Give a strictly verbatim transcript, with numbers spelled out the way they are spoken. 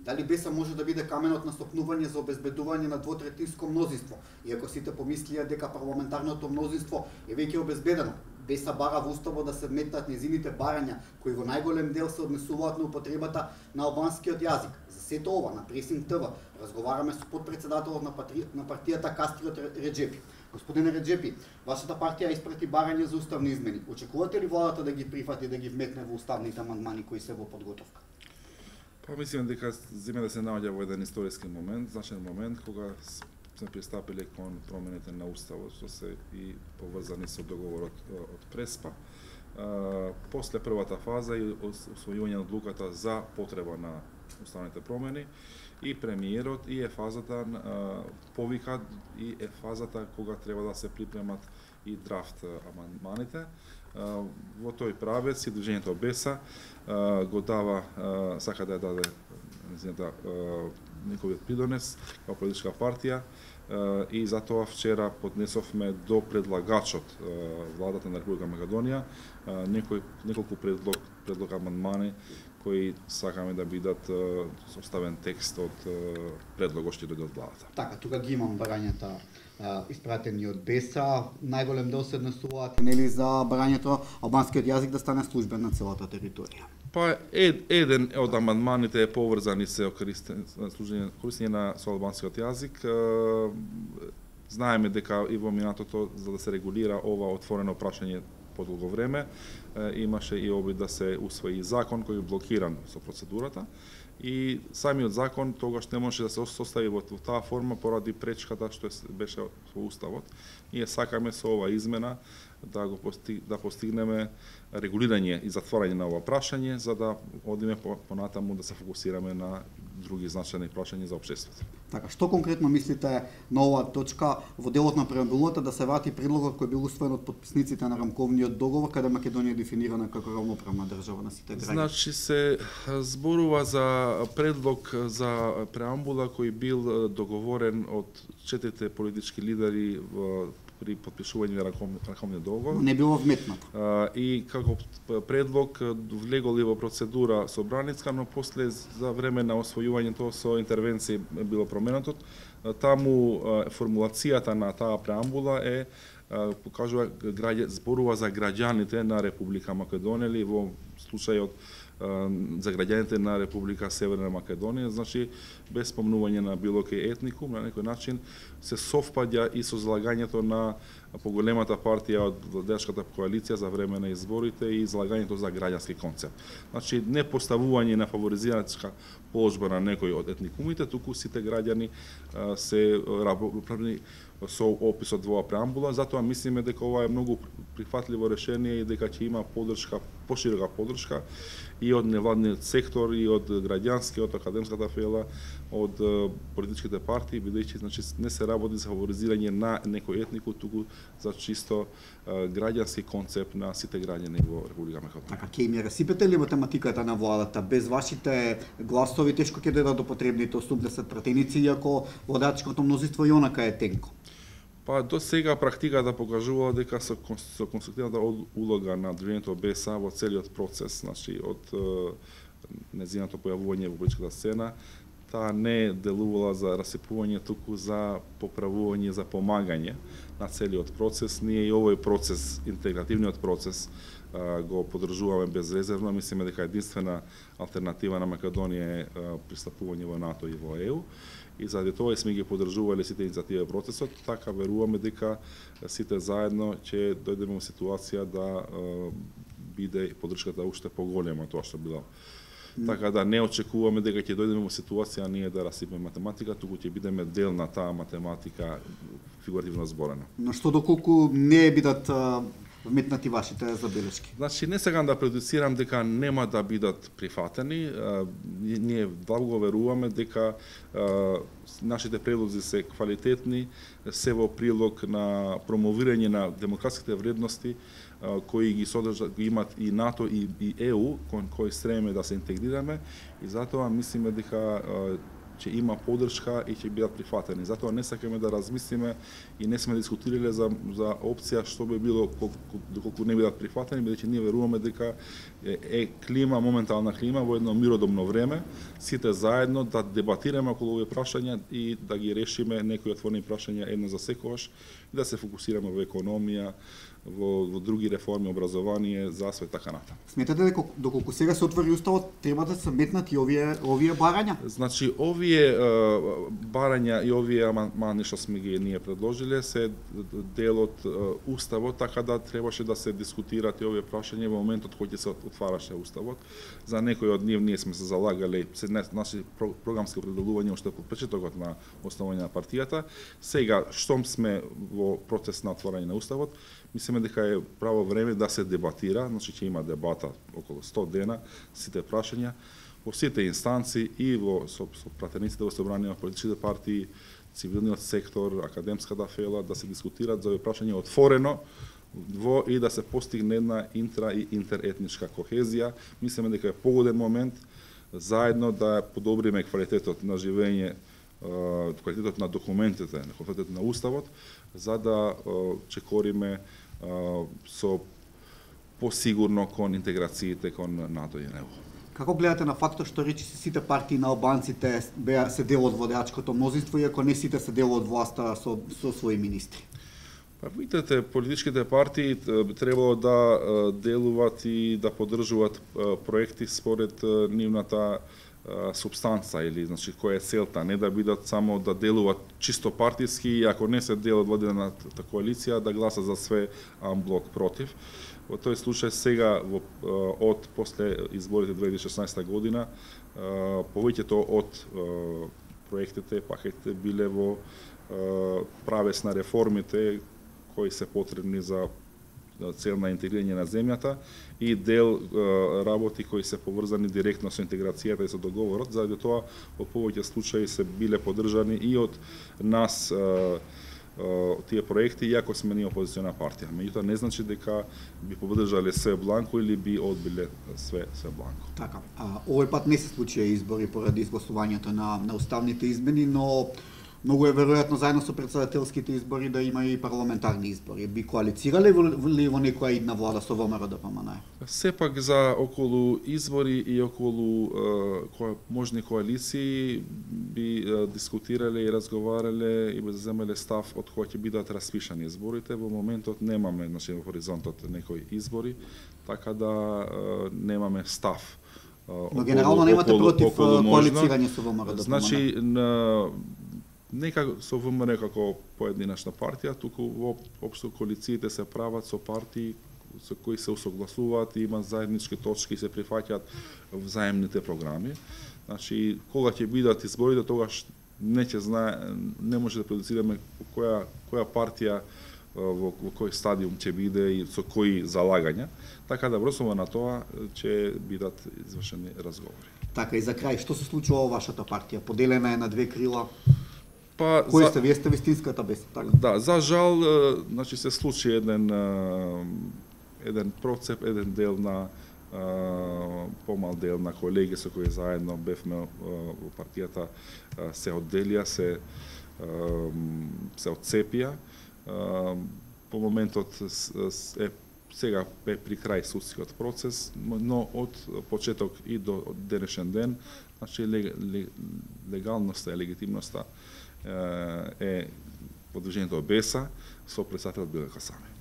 Дали БЕСА може да биде каменот на стопнување за обезбедување на двотретинско мнозинство, иако сите помислија дека парламентарното мнозинство е веќе обезбедено? БЕСА бара во уставот да се вметнат незините барања, кои во најголем дел се однесуваат на употребата на албанскиот јазик. За сето ова на Пресинг ТВ разговараме со подпредседателот на, патри... на партијата Кастриот Реджепи. Господине Реджепи, вашата партија испрати барање за уставни измени. Очекувате ли владата да ги прифати, да ги вметне во уставните амандмани кои се во подготовка? Па мислам дека зиме да се наоѓа во еден историски момент, значен момент кога сме пристапиле кон промените на уставот, што се и поврзани со договорот од Преспа. А, после првата фаза и усвојување на одлуката за потреба на уставните промени, и премиерот и е фазата а, повика и е фазата кога треба да се припремат и драфт амандманите. А, во тој правец и движењето БЕСА а, го дава, а, сака да ја даде незината неговиот придонес како политичка партија, а, и затоа вчера поднесовме до предлагачот а, владата на Република Македонија а, некој неколку предлог предлог амандмани кои сакаме да бидат составен текст од предлогот што дојде од владата. Така, тука ги имам барањата испратени од БЕСА. Најголем дел се однесуваат нели за барањето албанскиот јазик да стане службен на целата територија. Па ед, еден од амандманите е поврзани се користење на со албанскиот јазик. Знаеме дека и во минатото за да се регулира ова отворено прашање подолго време, имаше и обид да се усвои закон кој е блокиран со процедурата, и самиот закон тогаш не можеше да се состави во таа форма поради пречката што беше во уставот. Ние сакаме со ова измена да го постиг, да постигнеме регулирање и затворање на ова прашање, за да одиме понатаму да се фокусираме на други значајни прашања за општеството. Така, што конкретно мислите на оваа точка во делот на преамбулата да се врати предлогот кој бил усвоен од подписниците на рамковниот договор, каде Македонија е дефинирана како равноправна држава на сите граѓани? Значи се зборува за предлог за преамбула кој бил договорен од четирите политички лидери во при подпишување на рамковниот договор. Не било вметнато. И како предлог влегол и во процедура собраниска, но после за време на освојувањето со интервенции било променето. Таму формулацијата на таа преамбула е покажува граѓа, зборува за граѓаните на Република Македонија или во случајот за граѓаните на Република Северна Македонија, значи без спомнување на било кој етникум, на некој начин се совпаѓа и со залагањето на поголемата партија од владеачката коалиција за време на изборите и залагањето за граѓански концепт. Значи не поставување на фаворизирачка положба на некој од етникумите, туку сите граѓани се равноправни со описот во преамбула, затоа мислиме дека ова е многу прифатливо решение и дека ќе има поддршка, поширока поддршка и од невладниот сектор, и од граѓанскиот, академската фела, од политичките партии, бидејќи значи не се работи за фаворизирање на некој етнику, туку за чисто граѓански концепт на сите граѓани во Република Македонија. Така, ќе им ја расипете ли математиката на владата? Без вашите гласови тешко ќе дојдат до потребните осумдесет пратеници, иако владачкото мнозинство и онака е тенко. Па до сега практиката покажувала дека со, со конструктивната улога на движењето БЕСА во целиот процес, значи од незиното појавување во политичката сцена, таа не делувала за расипување, туку за поправување, за помагање на целиот процес. Ние и овој процес, интегративниот процес, го поддржуваме безрезервно. Мислиме дека единствена алтернатива на Македонија е пристапување во НАТО и во ЕУ. И заради тоа сме ги поддржувале сите иницијативи во процесот, така веруваме дека сите заедно ќе дојдеме во ситуација да биде поддршката уште поголема тоа што била. Така да не очекуваме дека ќе дојдеме во ситуација ние да расипеме математика, туку ќе бидеме дел на таа математика фигуративно зборена. Но што доколку не бидат вметнати вашите забелешки? Значи, не сакам да предуцирам дека нема да бидат прифатени. Ние длабоко веруваме дека нашите предлози се квалитетни, се во прилог на промовирање на демократските вредности кои ги содржат, ги имат и НАТО и, и ЕУ, кон кои стремиме да се интегрираме, и затоа мислиме дека ќе има поддршка и ќе бидат прифатени. Затоа не сакаме да размислиме и не сме дискутирале за за опција што би било доколку не бидат прифатени, бидејќи ние веруваме дека е, е клима, моментална клима во едно миродомно време, сите заедно да дебатираме околу овие прашања и да ги решиме некои отворени прашања едно за секогаш и да се фокусираме во економија, во, во други реформи, образование, засвет, така натаму. Сметате дека доколку сега се отвори уставот, треба да се метнат и овие овие барања? Значи, овие е, барања и овие амандмани што сме ги ние предложиле се дел од е, уставот, така да требаше да се дискутират и овие прашања во моментот кога ќе се отвараше уставот. За некои од нив ние сме се залагале, се наши програмски определувања уште по почетокот на основање на партијата. Сега, штом сме во процес на отворање на уставот, мислиме дека е право време да се дебатира, значи ќе има дебата околу сто дена, сите прашања во сите инстанции и во со, со пратениците во собрание, политичките партии, цивилниот сектор, академската фела, да се дискутираат за овие прашања отворено во и да се постигне една интра и интеретничка кохезија. Мислиме дека е погоден момент заедно да подобриме квалитетот на живење, квалитетот на документите, квалитетот на уставот, за да чекориме со посигурно кон интеграциите кон НАТО и ЕУ. Како гледате на фактот што речи сите партии на албанците беа се дел од водачкото мнозинство, иако не сите се дел од власта со, со своји министри? Па видите, политичките партии требало да делуваат и да поддржуваат проекти според нивната субстанца или значи која е целта, не да бидат само да делуваат чисто партиски и ако не се дел од владината коалиција да гласат за све амблок против. Во тој случај сега во, од после изборите две илјади и шеснаесета година повеќето од проектите, пакетите биле во правец на реформите кои се потребни за цел на интегрирање на земјата и дел е, работи кои се поврзани директно со интеграцијата и со договорот, заради тоа во повеќе случаи се биле поддржани и од нас е, е, тие проекти, иако сме ние опозициона партија. Меѓутоа не значи дека би поддржале све бланко или би одбиле све све бланко. Така. А, овој пат не се случија избори поради изгласувањето на на уставните измени, но многу е веројатно заедно со претседателските избори да има и парламентарни избори. Би коалицирале ли во некоја идна влада со ВМРО да поманае? Сепак за околу избори и околу е, која, можни коалиции би е, дискутирале и разговарале и би земеле став од кој ќе бидат распишани изборите. Во моментот немаме, значи во хоризонтот некои избори, така да е, немаме став. Но генерално немате против коалицирање со ВМРО да значи, на нека со ВМРО како поединечна партија, туку општо коалициите се прават со партии со кои се усогласуваат и имаат заеднички точки и се прифаќаат взаемните програми. Значи, кога ќе бидат изборите, тогаш не ќе знае, не може да предуцираме која која партија во, во кој стадиум ќе биде и со кои залагања, така да врсува на тоа ќе бидат извршени разговори. Така и за крај, што се случува во вашата партија? Поделена е на две крила. Па кој за... сте вие сте вистинската беса, така? Да, за жал, значи се случи еден еден процеп, еден дел на помал дел на колеги со кои заедно бевме во партијата се одделија, се се отцепија. По моментот е сега е при крај судскиот процес, но од почеток и до денешен ден, значи легалноста и легитимноста е по движењето Беса со председателот Билко Касами.